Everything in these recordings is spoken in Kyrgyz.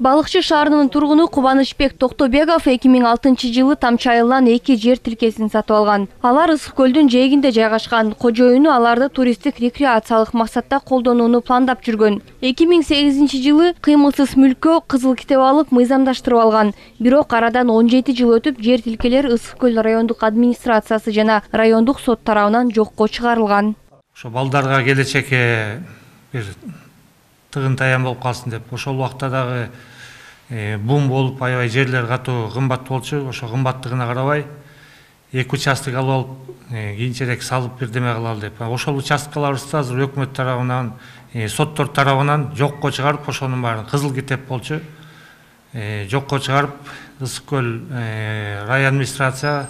Балыкчы шаарынын тургуну Кубанычбек Токтобеков 2006-жылы Тамчы айылынан 2 жер тилкесин сатып алган. Алар Ысык көлдүн жээгинде жайгашкан. Кожоюну аларды туристтик рекреациялык максатта колдонууну пландап жүргөн. 2008-жылы кыймылсыз мүлккө кызыл китеп алып мыйзамдаштырып алган. Бирок арадан 17 жыл өтүп жер тилкелер Ысык көл райондук администрациясы жана райондук сот тарабынан жокко чыгарылган. Ошо балдарга келечекке бир тыгын таян болуп калсын деп ошол убакта дагы бум болуп аябай жерлер катуу кымбат болчу. Ошо кымбаттыгына карабай 2 участок алып алып кийинчерээк салып бирдеме кылалы деп. Ошол участкаларыбызды азыр өкмөт тарабынан, соттор тарабынан жокко чыгарып, ошонун баарын кызыл китеп болчу. Жокко чыгарып, Ысык көл район администрация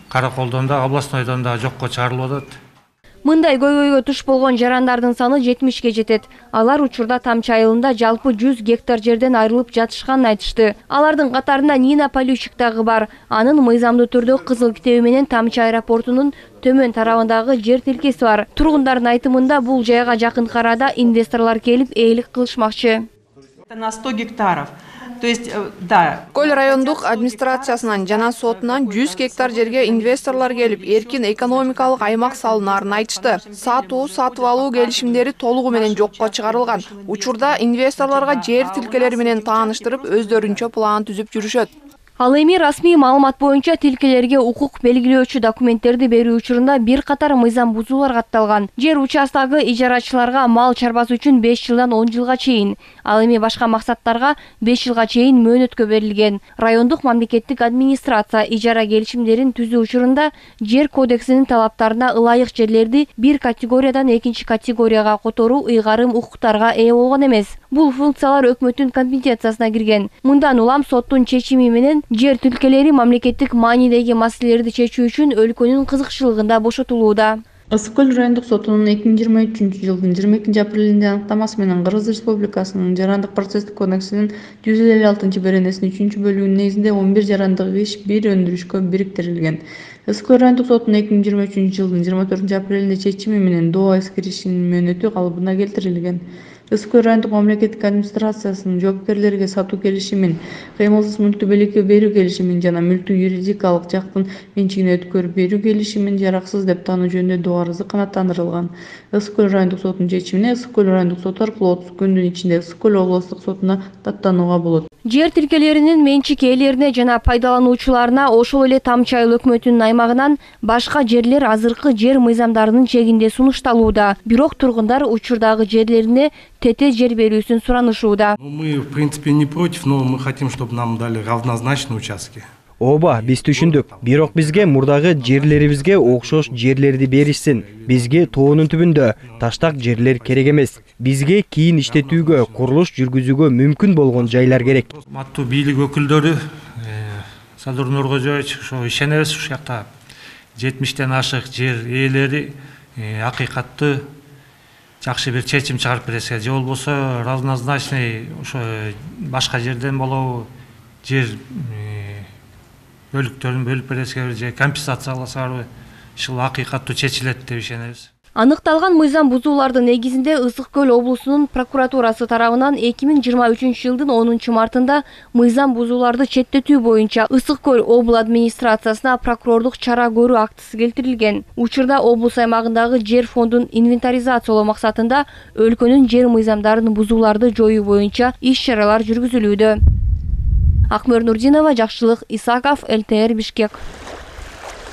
Караколдон да, областнойдон да жокко чыгарылып атат. Мындай көйгөйгө туш болгон жарандардын саны 70ге жетет. Алар учурда Тамчы айылында жалпы 100 гектар жерден айрылып жатышканын айтышты. Алардын катарында Нина Полющик дагы бар. Анын мыйзамдуу түрдө кызыл китеби менен Тамчы аэропортунун төмөн тарабындагы жер тилкеси бар. Тургундардын айтымында бул жайга жакын арада инвесторлор келип ээлик кылышмакчы. На 100 гектаров. То есть, да. Көл райондук администрациясынан жана сотунан 100 гектар жерге инвесторлор келип, эркин экономикалык аймак салынаарын айтышты. Сатып алуу келишимдери толугу менен жокко чыгарылган. Учурда инвесторлорго жер тилкелери менен тааныштырып, өздөрүнчө план түзүп жүрүшөт. Ал эми расмий маалымат боюнча тилкелерге укук белгилөөчү документтерди берүү учурунда бир катар мыйзам бузуулар катталган. Жер участогу ижарачыларга мал чарбасы үчүн 5 жылдан 10 жылга чейин, ал эми башка максаттарга 5 жылга чейин мөөнөткө берилген. Райондук мамлекеттик администрация ижара келишимдерин түзүү учурунда жер кодексинин талаптарына ылайык жерлерди бир категориядан экинчи категорияга которуу ыйгарым укуктарга ээ болгон эмес. Бул функциялар өкмөттүн компетенциясына кирген. Мындан улам соттун чечими менен жер тилкелери мамлекеттик маанидеги маселелерди чечүү үчүн өлкөнүн кызыкчылыгында бошотулууда. Ысык көл райондук сотунун 2023-жылдын 22-апрелинде аныктамасы менен Кыргыз Республикасынын жарандык процесстик кодексинин 156-беренесинин 3-бөлүгүнүн негизинде 11 жарандык иш бир өндүрүшкө бириктирилген. Ысык көл райондук сотунун 2023-жылдын 24-апрелинде чечими менен доо эскеришинин мөөнөтү калыбына келтирилген. Ысык көл райондук мамлекеттик администрациясынын жоопкерлерге сатуу келишимин, кыймылсыз мүлктү белекке берүү келишимин жана мүлктү юридикалык жактын менчигине өткөрүп берүү келишимин жараксыз деп таануу жөнүндө доо арызы канааттандырылган. Ысык көл райондук сотунун чечимине Ысык көл райондук соту аркылуу 30 күндүн ичинде Ысык көл облустук сотуна даттанууга болот. Жер тилкелеринин менчик ээлерине жана пайдалануучуларына ошол эле Тамчы айыл өкмөтүнүн аймагынан башка жерлер азыркы жер мыйзамдарынын чегинде сунушталууда. Бирок тургундар учурдагы жерлерине тете жер берүүсүн суранышууда. Мы, в принципе, не против, но мы хотим, чтобы нам дали равнозначные участки. Ооба, биз түшүндүк. Бирок бизге мурдагы жерлерибизге окшош жерлерди беришсин. Бизге тоонун түбүндө таштак жерлер керек эмес. Бизге кийин иштетүүгө, курулуш жүргүзүүгө мүмкүн болгон жайлар керек. Маттуу бийлик өкүлдөрү, Садыр Нуркожоевич, ошо ишенебиз, ушул жакта 70тен ашык жер ээлери акыйкатты жакшы бир чечим чыгарып берсе, же болбосо равнозначный ошо башка жерден болобу жер бөлүктөрүн бөлүп бересиңерби же компенсация аласыңарбы, ушул акыйкаттуу чечилет деп ишенебиз. Аныкталган мыйзам бузуулардын негизинде Ысык көл облусунун прокуратурасы тарабынан 2023-жылдын 10-мартында мыйзам бузууларды четтетүү боюнча Ысык көл обл администрациясына прокурорлук чара көрүү актысы келтирилген. Учурда облус аймагындагы жер фондун инвентаризациялоо максатында өлкөнүн жер мыйзамдарын бузууларды жоюу боюнча иш-чаралар жүргүзүлүүдө. Акмөр Нурдинова, Жакшылык Исаков, ЛТР Бишкек.